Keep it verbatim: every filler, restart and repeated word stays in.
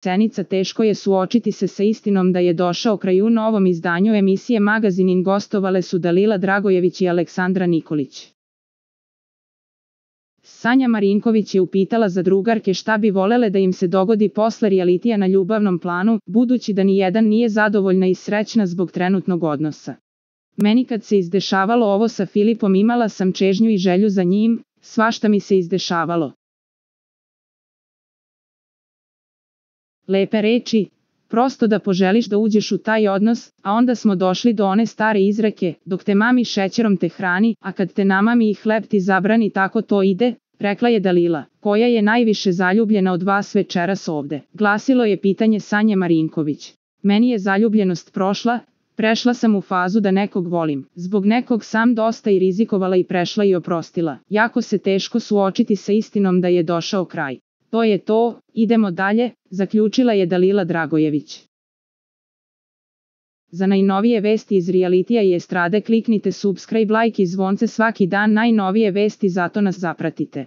Cenica, teško je suočiti se sa istinom da je došao kraj. U novom izdanju emisije Magazinin gostovale su Dalila Dragojević i Aleksandra Nikolić. Sanja Marinković je upitala za drugarke šta bi volele da im se dogodi posle realitija na ljubavnom planu, budući da nijedan nije zadovoljna i srećna zbog trenutnog odnosa. Meni kad se izdešavalo ovo sa Filipom imala sam čežnju i želju za njim, svašta mi se izdešavalo. Lepe reči, prosto da poželiš da uđeš u taj odnos, a onda smo došli do one stare izreke, dok te mami šećerom te hrani, a kad te namami i hleb ti zabrani, tako to ide, rekla je Dalila. Koja je najviše zaljubljena od vas večeras ovde? Glasilo je pitanje Sanje Marinković. Meni je zaljubljenost prošla, prešla sam u fazu da nekog volim. Zbog nekog sam dosta i rizikovala i prešla i oprostila. Jako se teško suočiti sa istinom da je došao kraj. To je to, idemo dalje, zaključila je Dalila Dragojević. Za najnovije vesti iz realitija i estrade kliknite subscribe, like i zvonce svaki dan. Najnovije vesti, zato nas zapratite.